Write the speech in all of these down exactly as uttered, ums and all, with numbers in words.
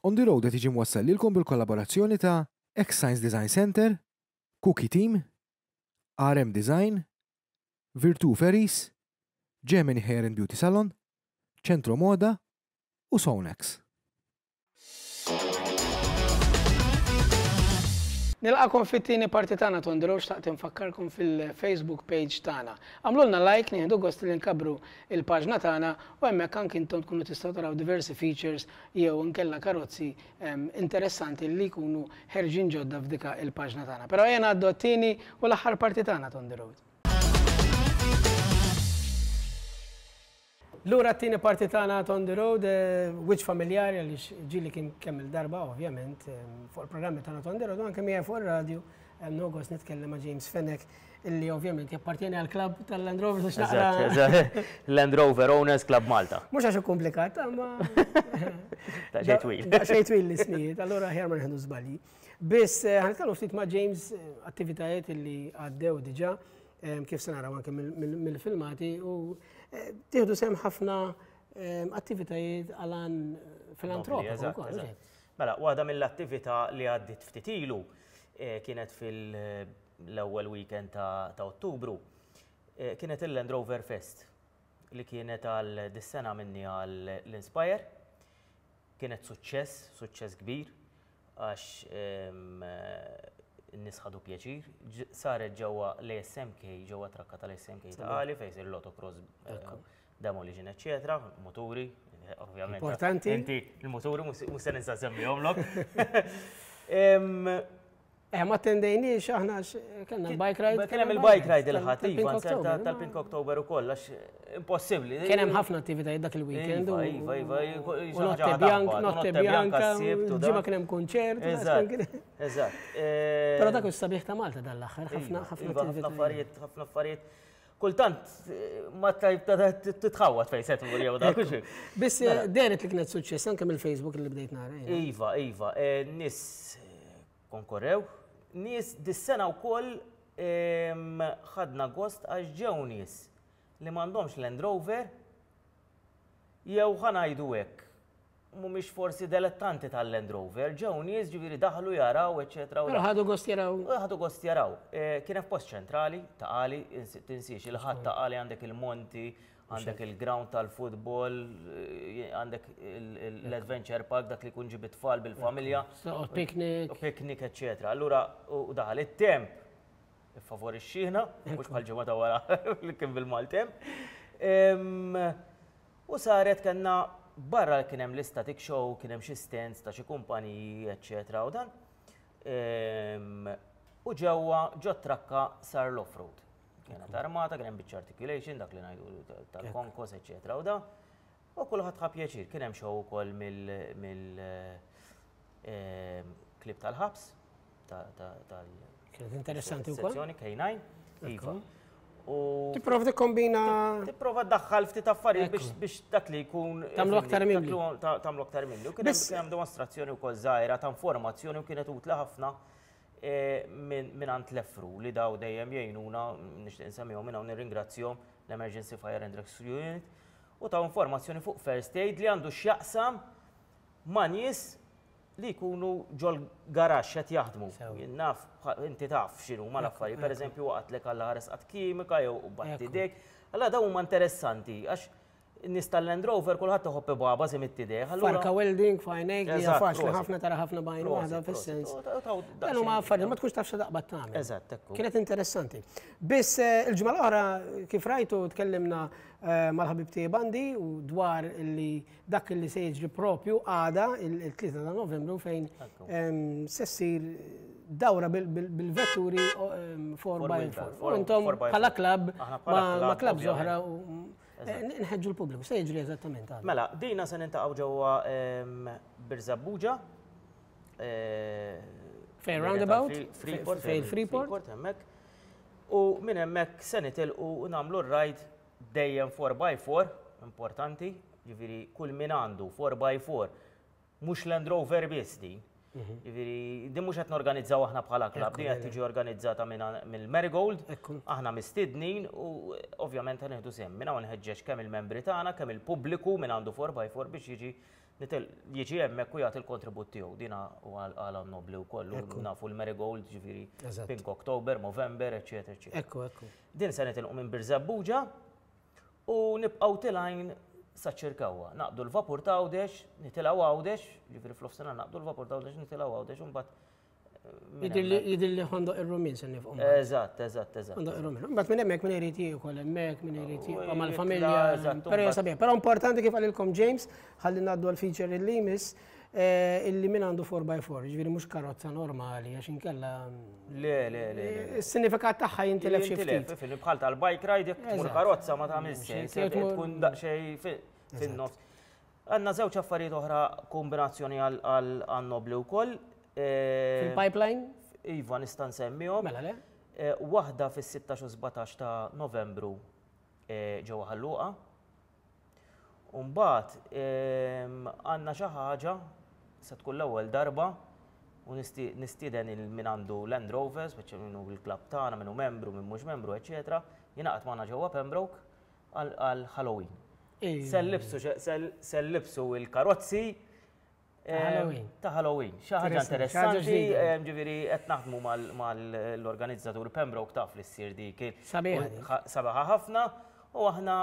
On the Road qed jiġi mwassal lilkom bil-kollaborazzjoni ta' X-Science Design Center, Cookie Team, R M Design, Virtu Ferries, Germany Hair and Beauty Salon, Centro Moda u Sonax. Nilqakom fit-tieni parti tagħna On The Road. Xtaqt infakkarkom fil-Facebook page tagħna. Għamlulna like, nieħdu gost li nkabbru il-paġna tagħna u hemmhekk anke intom tkunu tistgħu taraw diversi features jew nkella karozzi em, interessanti li jkunu ħerġin ġodda f'dika il-paġna tagħna. Però ejja ngħaddu għat-tieni u l-aħħar parti tagħna On The Road. Lura t-tieni parti tagħna On The Road, eh, wiċċ familjari għaliex ġieli kien kemm il-darba ovvjament eh, fuq il-programmi tagħna On The Road u anke miegħi fuq ir-radju eh, nogos nitkellem ma' James Fenech, illi ovvjament jappartieni għal klabb tal-Land Rover biex Eżatt, naqra. Eżatt. Land Rover Owners Club Malta. Mhux għax komplikat, ma Ta' xejn twil. Da xejn twil l-ismijiet, allura aħjar ma nieħdu żbalji. Biss eh, ħa nitkellmu ftit ma' James eh, attivitajiet illi għaddew diġà eh, kif se naraw anke mill- mill- mill-filmati u eh, tieħdu sehem ħafna eh, attivitajiet għal filantropiku Eżatt, wkoll. eżatt. Mela, waħda mill-attività li għaddit ftit ilu eh, kienet fil-ewwel weekend ta' ta' Ottubru. eh, Kienet il-Land Rover Fest li kienet għal dis-sena minni għal l-Inspire. Kienet suċċess, suċċess kbir, għax em, eh, n-nies ħadu pjaċir. Ġ- Saret ġewwa l-A S M K, ġewwa trakka tal-A S M K Ta' Qali, fejn jsir l-autocross, eh, demolition, eccetera, moturi, eh, ovvjament. Importanti. Inti, il-moturi, mhux se ninsa semmihomlok. Em, Eh, ma attendejniex aħna għax kellna l-bike ride. Kien hemm il-bike ride il-Ħadd, tal- iva, tal-Pink nserta October, tal-Pink October ukoll, għax impossibbli. Kien hemm ħafna attivitajiet dak il-weekend. Iva, u- iva, iva, u xi Notte ħaġa Bianca, taħbat, Notte Notte Bianca Bianca, s-Sibt u ġimgħa dak. kien hemm kunċert. u Eżatt, kien- eżatt. Però dak is-sabiħ ta' Malta dal-aħħar, ħafna Iva, ħafna iva, ħafna attivitajiet. affarijiet, ħafna affarijiet. Kultant eh, ma titħawat fejn se tmur jew dak. Hux. Biss eh, dehret li kienet suċċess anke mill-Facebook li bdejt nara jiena. Iva, iva, eh, nies eh, konkorrew, nies dis-sena wkoll em, ħadna gost għax ġew nies li m'għandhomx Land Rover jew, ħa ngħidu hekk, mhumiex forsi dilettanti tal-Land Rover, ġew nies, ġifieri daħlu jaraw, eċetera. u Però ħadu gost jaraw. U ħadu gost jaraw. Eh, Kien hemm post ċentrali Ta' Qali, ins- tinsiex il-Ħadd Ta' Qali għandek il-Monti, għandek il-ground tal-futbol, eh, għandek il- il- l-adventure park, dak li kun ġib it-tfal bil-familja. So, picnic. U picnic, eccetera. Allura, u daħal it-temp, favorixxina, mhux bħal ġimgħa ta' wara li kien bil-maltemp. Em, U saret kellna barra kien hemm l-static show, kien hemm xi stands ta' xi kumpaniji, eccetera. U dan. Em, U ġewwa ġo trakka sar l-off-road. Kienet armata, kien hemm biċċa articulation, dak li ngħidu tal-konkos, eccetera. U da. U kulħadd ħa pjaċir, kien hemm show ukoll mill mill em, klieb tal-ħabs, ta- ta- tal Kienet interessanti wkoll. Sezzjoni K nine, iva. U Tipprova tikkombina. Tipprova ddaħħal ftit affarijiet biex biex dak li jkun Tagħmlu aktar mimli. dak li ta- Tagħmlu aktar mimli. U kien hemm Biss- kien hemm dimostrazzjoni wkoll żgħira ta' informazzjoni u kienet utla ħafna eh, minn minn għand l-EFRU li daw dejjem jgħinuna, nixtieq insemmihom minn hawn, nirringrazzjahom, l-Emergency Fire and Rescue Unit, u ta' informazzjoni fuq first aid li għandu x'jaqsam ma' nies li jkunu ġol garaxx qed jaħdmu. Jien naf, inti taf x'inhu ma l-affarijiet, per eżempju waqgħetlek għalla ħares qatt kimika jew batti dek. Allora dawn huma interessanti għax nies tal-Land Rover kulħadd iħobb ibaba si mit-tidej. Farka welding, fajnek, li hija Eżatt, faċli prosit. ħafna, tara ħafna bajn waħda fis-sens. Prosit. Dan huma affarijiet ma tkunx taf x'taqbad tagħmel. Eżatt, ekku. Kienet interessanti. Biss eh, il-ġimgħa l-oħra, kif rajtu, tkellimna eh, mal-ħabib tiegħi Bandi u dwar li dak li se jiġri propju għada il-tlieta ta' Novembru fejn em, se ssir dawra bil- bil- bil-vetturi four by four. U intom bħala klabb Aħna bħala ma' ma' klabb, klabb oħra ovvjament. u eh, nħeġġu l-pubbliku. Se jiġri eżattament għada? Mela, dina se niltaqgħu ġewwa em, Birżebbuġa. eh, Fejn l-area roundabout? tal-Freeport. Fejn Freeport? Freeport hemmhekk. U minn hemmhekk se nitilqu u nagħmlu r-ride dejjem four by four, importanti, ġifieri kull min għandu four by four, mhux Land Rover biss din. Ġifieri din mhux qed norganizzaw aħna bħala klabb, din qed tiġi organizzata minn mill-Marigold. Ekku. Aħna mistednin u ovvjament ħa nieħdu sehem. Minn hawn nħeġġeġ kemm il-membri tagħna, kemm il-pubbliku min għandu four by four biex jiġi Jiġi hemmhekk u jagħti l-kontribut tiegħu. Dina u għala nobli wkoll, nafu l-Marigold, ġifieri Pink October, Movember, eċetera, eċetera. Ekku, ekku. Din se nitilqu minn Birżebbuġa u nibqgħu tilgħin sa Ċirkewwa. Naqbdu l-vapur ta' Għawdex, nitilgħu Għawdex, ġifieri fl-ofsinhar naqbdu l-vapur ta' Għawdex, nitilgħu Għawdex u mbagħad Jidhirli Ħondoq ir-Rummien se nifqu. Eżatt, eżatt, eżatt. Ħondoq ir-Rummien. Mbagħad minn hemmhekk min irid jiekol hemmhekk, min irid jibqa' mal-familja. Però sabiħ. Però importanti kif qalilkom James, ħalli ngħaddu għal-feature illi jmiss, illi min għandu four by four, ġifieri mhux karozza normali, għax inkella. Le, le, le. Is-sinifikat tagħha jintilef xi ftit. Bħal tal-bike ride, jekk tmur karozza ma tagħmel sens, tkun daqsxejn fin-nofs. Għandna żewġ affarijiet oħra kombinazzjoni għal-nobli wkoll. Fil-pipeline? Iva, nista' nsemmihom. Mela le? Waħda fis-sittax u sbatax ta' Novembru ġewwa Ħal Luqa. U mbagħad għandna xi ħaġa se tkun l-ewwel darba u nistieden il min għandu Land Rover, speċi minnu il-klabb tagħna, minnu membru, min mhux membru, eċetera, jingħaqad magħna ġewwa Pembroke għal Halloween. Se nlibsu il-karozzi ta' Halloween. Xi ħaġa interessanti, ġifieri qed naħdmu mal-organizzatur Pembroke taf li ssir dik. Sabiħa ħafna u aħna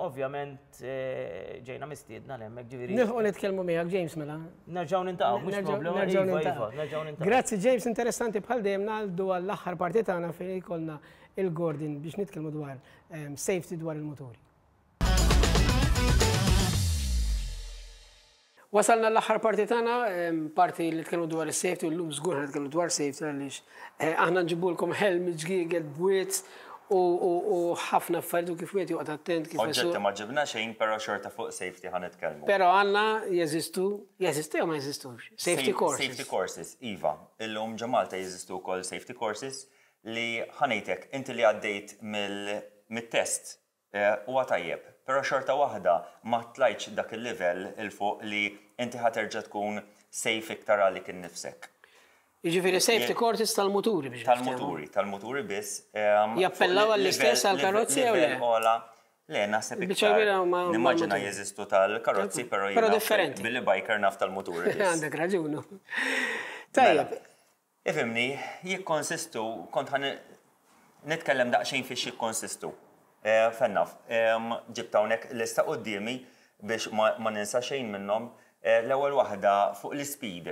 ovvjament ġejna mistiedna hemmhekk ġifieri. Nilħqu nitkellmu miegħek James mela. Nerġgħu nintaqgħu, mhux problema. Nerġgħu nintaqgħu. Grazzi James, interessanti bħal dejjem ngħaddu għall-aħħar parti tagħna fejn jkollna il-Gordon biex nitkellmu dwar safety dwar il-muturi. Wasalna l-aħħar parti tagħna, parti li tkellmu dwar is-safety, u llum żgur ħa dwar safety għaliex aħna nġibulkom helm, ġgiegel, bwiet u ħafna affarijiet u kif wieħed joqgħod attent kif. Oġġetti ma ġibna xejn, però xorta fuq safety ħa nitkellmu. Però għandna jeżistu, jeżistu jew ma jeżistux? Safety courses. Safety courses, iva. Illum ġo Malta jeżistu wkoll safety courses li ħanejtek inti li għaddejt mill-test huwa tajjeb, però xorta waħda ma tlajtx dak il-livell il fuq li inti ħa terġa' tkun safe iktar għalik innifsek. Jiġifieri safety courses tal-muturi biex. Tal-muturi, tal-muturi biss. Jappellaw għall-istess għall-karozzi jew le? Le, naħseb iktar. Nimmaġina jeżistu tal-karozzi, però Però differenti. Billi biker naf tal-muturi. Għandek raġunu. Tajjeb. Ifhimni, jikkonsistu, kont ħa nitkellem daqsxejn fiex jikkonsistu. Fennaf, ġibt hawnhekk lista quddiemi biex ma ninsa xejn minnhom. L-ewwel waħda fuq l-speed.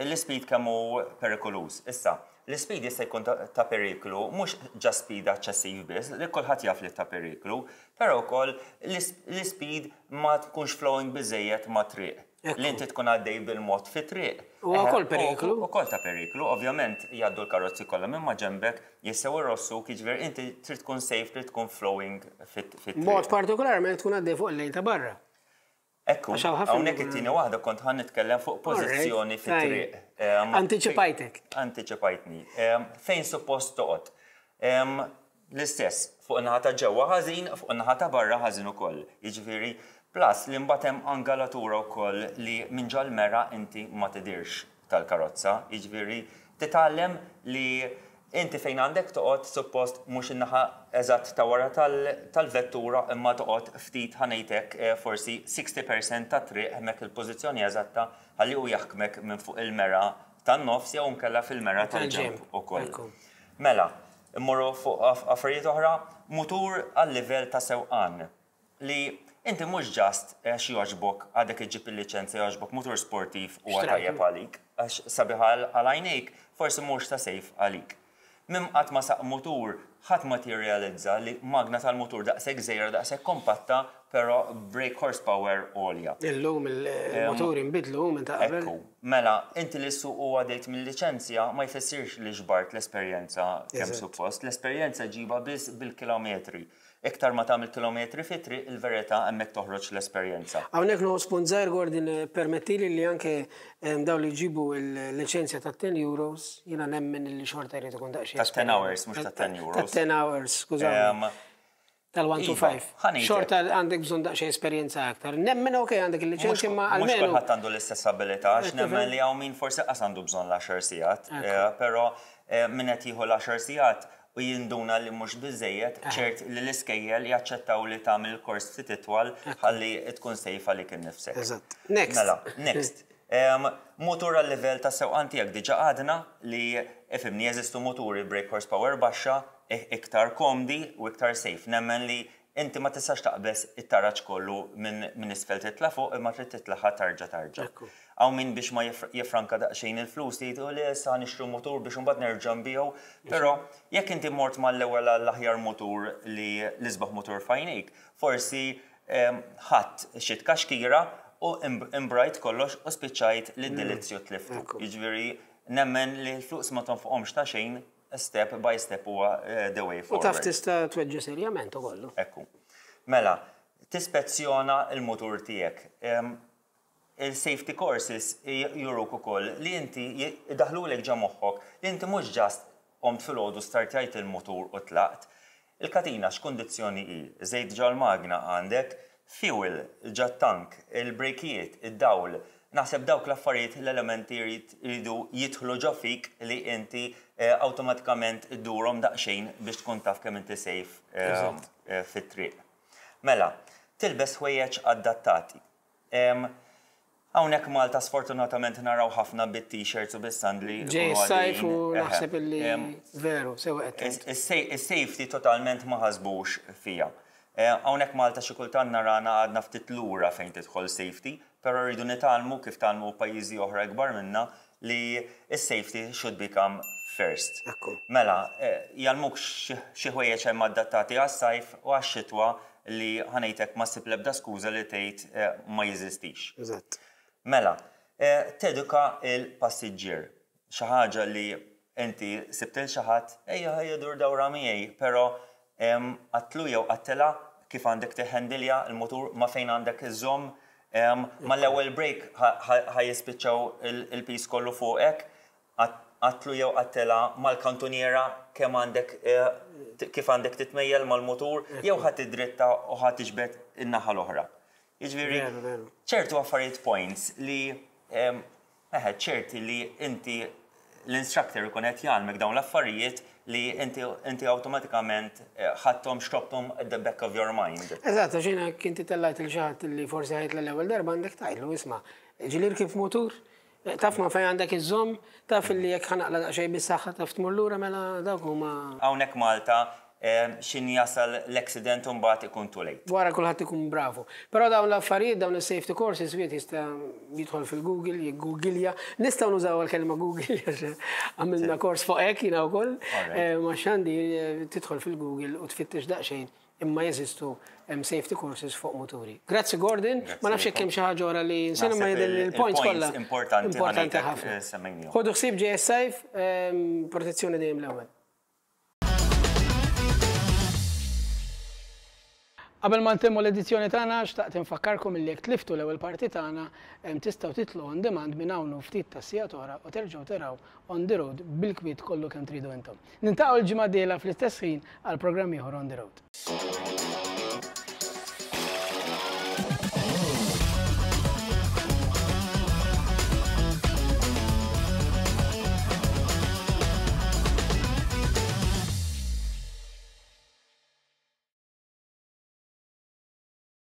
L-speed kemm hu perikoluż. Issa, l-speed jista' jkun ta' periklu, mhux ġa speed eċċessiv biss, li kulħadd jaf li ta' periklu, però wkoll l-speed ma tkunx flowing biżejjed ma' triq. Li inti tkun għaddej bil-mod fi triq. U wkoll periklu. Ukoll ta' periklu, ovvjament jgħaddu l-karozzi kollha minn ma' ġembek, jistgħu jrossuk, jiġifieri inti trid tkun safe, trid tkun flowing fit-triq. Mod partikolarment tkun għaddej fuq il-lejn ta' barra. Ekku, hawnhekk it-tieni waħda kont ħa nitkellem fuq pożizzjoni fit-triq. Antiċipajtek. Antiċipajtni. Fejn suppost toqgħod. L-istess, fuq in-naħa ta' ġewwa ħażin, fuq in-naħa ta' barra ħażin ukoll. Jiġifieri, plus li mbagħad hemm angolatura wkoll li minn ġol-mera inti ma tidirx tal-karozza. Jiġifieri, titgħallem li inti fejn għandek toqgħod suppost mhux in-naħa eżatt ta' wara tal-vettura imma toqgħod ftit ħanejtek forsi sixty percent ta' triq hemmhekk il-pożizzjoni eżatta ħalli hu jaħkmek minn fuq il-mera tan-nofs jew nkella fil-mera tal-ġenb ukoll. Mela, immorru fuq affarijiet oħra, mutur għal-livell ta' sewqan li inti mhux ġast għax jogħġbok għadek iġġib il-liċenzja jogħġbok mutur sportiv huwa tajjeb għalik, għax sabiħ għal għajnejk forsi mhux ta' safe għalik. Mim qatt ma saq mutur, ħadd ma tirrealizza li magna tal-mutur daqshekk żgħira daqshekk kompatta, però brake horsepower għolja. Illum il-motur inbidlu minn ta' qabel. Ekku, mela, inti li ssuq u għaddejt mill-liċenzja ma jfissirx li ġbart l-esperjenza kemm suppost. L-esperjenza ġiba biss bil-kilometri. Iktar ma tagħmel kilometri fit-triq, il-verità hemmhekk toħroġ l-esperjenza. Hawnhekk nieħu spunt żgħir Gordon, permettili li anke dawn li jġibu l-liċenzja ta' ten euros, jiena nemmen li xorta jrid ikun daqsxejn. Ta' ten hours, mhux ta' ten euros. Ta' ten hours, skużawni. Tal-one to five. Xorta għandek bżonn daqsxejn esperjenza aktar. Nemmen ok għandek il-liċenzja ma almenu. Mhux kulħadd għandu l-istess abilità, għax nemmen li hawn min forsi qas għandu bżonn l-għaxar sigħat, però min qed jieħu l-għaxar sigħat u jinduna li mhux biżejjed, ċert li l-iskejjel jaċċettaw li tagħmel kors ftit itwal ħalli tkun safe għalik innifsek. Eżatt. Next. Mela, next. Em, Motur għal level ta' sewqan tiegħek, diġà għadna li, ifhimni, jeżistu moturi brake horsepower baxxa, i- iktar komdi u iktar safe. Nemmen li inti ma tistax taqbeż it-taraġ kollu minn min isfel titla fuq, imma trid titlaħa tarġa tarġa. Ekku. Hawn min biex ma jifr- jifranka daqsxejn il-flus jgħidu li issa nixtru motur biex imbagħad nerġa' nbiegħu. Però jekk inti mort mal-ewwel għall-aħjar motur li l-isbaħ motur f'għajnejk, forsi em, ħadd xi tkaxkira u imb- imbrajt kollox u spiċċajt li d-delizzju tliftu. Ekku. Jiġifieri nemmen li l-flus ma tonfoqhomx ta' xejn, step by step huwa eh, the way U forward. taf tista' tweġġa serjament ukollu. Ekku. Mela, tispezzjona il-motur tiegħek. Em, Il-safety courses juruk ukoll li inti idaħlulek ġo moħħok li inti mhux just qomt filgħodu, startjajt il-motur u tlaqt. Il-katina x'kundizzjoni hi? Żejt ġol-magna għandek, fuel ġat-tank, il-brejkijiet, id-dawl. Naħseb dawk l-affarijiet, l-elementi jrid- jridu jidħlu ġo fik li inti eh, awtomatikament iddurhom daqsxejn biex tkun taf kemm inti safe eh, Eżatt. eh, fit-triq. Mela, tilbes ħwejjeġ adattati. Em, Hawnhekk Malta sfortunatament naraw ħafna bit-t-shirts u bis-sandli. Ġej ikunu s-sajf u għaddejjin. Eħe. naħseb illi Em, veru, sewa qed tgħid. Is-safety totalment ma ħasbux fija. Eh, Hawnhekk Malta xi kultant narana għadna ftit lura fejn tidħol safety, però rridu nitgħallmu kif tgħallmu pajjiżi oħra kbar minna li is-safety should become first. Ekku. Mela, eh, jgħallmuk xi xi ħwejjeġ hemm adattati għas-sajf u għax-xitwa li ħa ngħidlek ma ssib l-ebda skuża li tgħid eh, ma jeżistix. Eżatt. Mela, eh, teduka il-passiġġier. Xi ħaġa li inti sibt lil xi ħadd, ejja ejja dur dawra miegħi, però em, għedtlu jew għedtilha kif għandek tiħendilja il-motur, ma fejn għandek iżomm, em, ma l-ewwel brake ħa jispiċċaw il-piż kollu fuqek, għedtlu jew għedtilha mal-kantuniera kemm għandek eh, t- kif għandek titmejjel mal-motur, jew ħa tidritta u ħa tiġbed in-naħa l-oħra. Jiġifieri, Veru, veru. ċertu affarijiet, points li em, eħe, ċerti li inti l-instructor ikun qed jgħallmek dawn l-affarijiet li inti inti awtomatikament eh, ħadthom, xrobthom at the back of your mind. Eżatt, għax jiena kinti tellajt lil xi ħadd li forsi ħa jitla' l-ewwel darba, għandek tgħidlu, "Isma', ġieli rkibt motur, taf ma fejn għandek iżżomm, taf li jekk ħa naqla' daqsxejn bis-saħħa taf tmur lura." Mela dawk huma. Hawnhekk Malta em, xin jasal l-accident u mbagħad ikun too late. Wara kulħadd ikun bravu. Però dawn l-affarijiet, dawn is-safety courses, wieħed jista' jidħol fil-Google, jiggooglja. Nistgħu nużaw il-kelma Google għax għamilna kors fuq hekk jiena wkoll. Alright. Eh, Ma xandi eh, tidħol fil-Google u tfittex daqsxejn, imma jeżistu hemm safety courses fuq moturi. Grazzi, Gordon, ma nafx jekk hemm xi ħaġa oħra li nsejna, ma Naħseb jidher il- il-points il-points kollha. importanti Importanti ħa ngħidlek, ħafna. eh, semmejnihom. Ħodu ħsieb, ġej is-sajf, ehm, protezzjoni dejjem l-ewwel. Qabel ma ntemmu l-edizzjoni tagħna, xtaqt infakkarkom illi jekk tliftu l-ewwel parti tagħna, em, tistgħu titlu on demand minn hawn u ftit ta' sigħat oħra u terġgħu taraw On the Road bil-kwiet kollu kemm tridu intom. Niltaqgħu l-ġimgħa dieħla fl-istess ħin għal programm ieħor On the Road.